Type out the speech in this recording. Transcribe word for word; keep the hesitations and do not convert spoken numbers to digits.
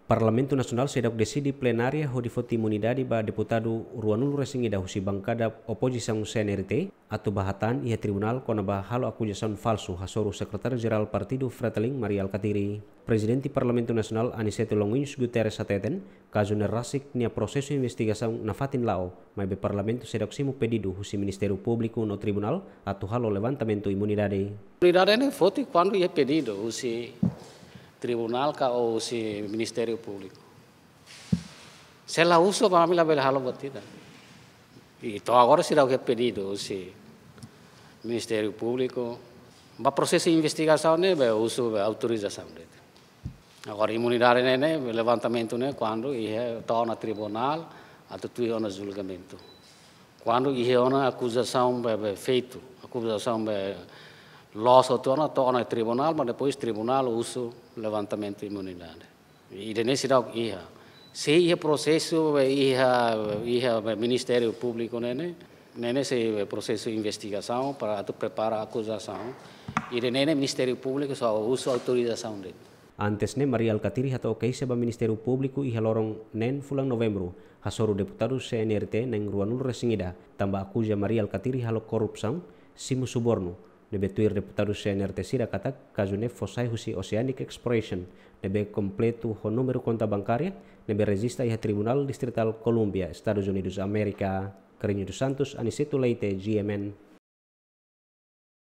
Parlamentu Nasionál seidauk deside plenária hodi foti imunidade ba deputadu ruanulu-resin-ida husi bankada opozisaun C N R T atu bá hatán iha tribunál kona-ba halo akuzasaun falsu hasoru Sekretáriu-Jerál Partidu Fretilin, Mari Alkatiri. Prezidente Parlamentu Nasionál, Aniceto Longuinhos Guterres, hateten kazu ne'e rasik nia prosesu investigasaun nafatin la'o, maibé Parlamentu seidauk simu pedidu husi Ministériu Públiku no tribunál atu halo levantamentu imunidade. Imunidade ne'e foti kuandu iha pedidu husi tribunál ka husi Ministériu Públiku. Se la husu, ba ami labele halo buat ida. I to'o agora seidauk iha pedidu husi Ministériu Públiku. Ba prosesu investigasaun ne'e be husu be autorizasaun de'it. Agora imunidade ne'e, ne'e, levantamentu ne'e kuandu iha to'o ona tribunál atu tuir ona julgamentu. Kuandu iha ona akuzasaun be, be feitu, akuzasaun be loos hotu ona to'o ona tribunál, mas depois tribunál husu levantamentu imunidade. Ida-ne'e seidauk iha. Se iha prosesu be iha, iha be Ministériu Públiku ne'e, ne'e, ne'e ne'e sei be prosesu investigasaun para atu prepara akuzasaun. Ida-ne'e ne'e Ministériu Públiku só husu autorizasaun de'it. Antes ne'e, Mari Alkatiri hato'o keixa ba Ministériu Públiku iha loron neen fulan Novembru, hasoru deputadu C N R T na'in ruanulu-resin-ida, tanba akuza Mari Alkatiri halo korrupsaun, simu subornu, ne'ebé tuir deputadu C N R T sira katak kazu ne'e fó sai husi Oceanic Exploration, ne'ebé kompletu ho númeru konta bankária, ne'ebé rejista iha Tribunál Distritál Columbia, Estadus Unidus Amérika. Carlinho dos Santos, Aniceto Leite, G M N,